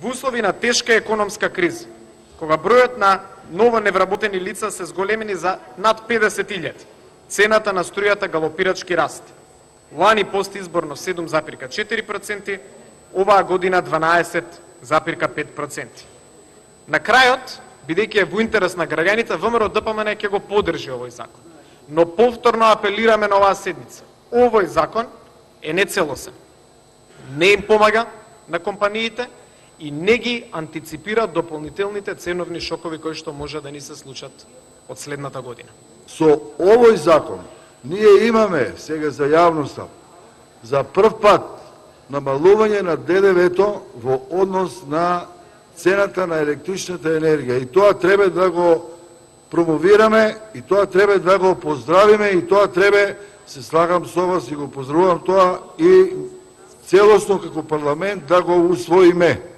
Во услови на тешка економска криза, кога бројот на ново невработени лица се зголемени за над 50.000, цената на струјата галопирачки расте. Лани постизборно 7,4%, оваа година 12,5%. На крајот, бидејќи е во интерес на граѓаните, ВМРО-ДПМН ќе го поддржи овој закон. Но повторно апелираме на оваа седница. Овој закон е нецелосен. Не им помага на компаниите и не ги антиципира дополнителните ценовни шокови кои што може да ни се случат од следната година. Со овој закон ние имаме сега за јавноста за прв пат намалување на ДДВ-то во однос на цената на електричната енергија, и тоа треба да го промовираме, и тоа треба да го поздравиме, и тоа треба, се слагам со вас и го поздравувам тоа, и целосно како парламент да го усвоиме.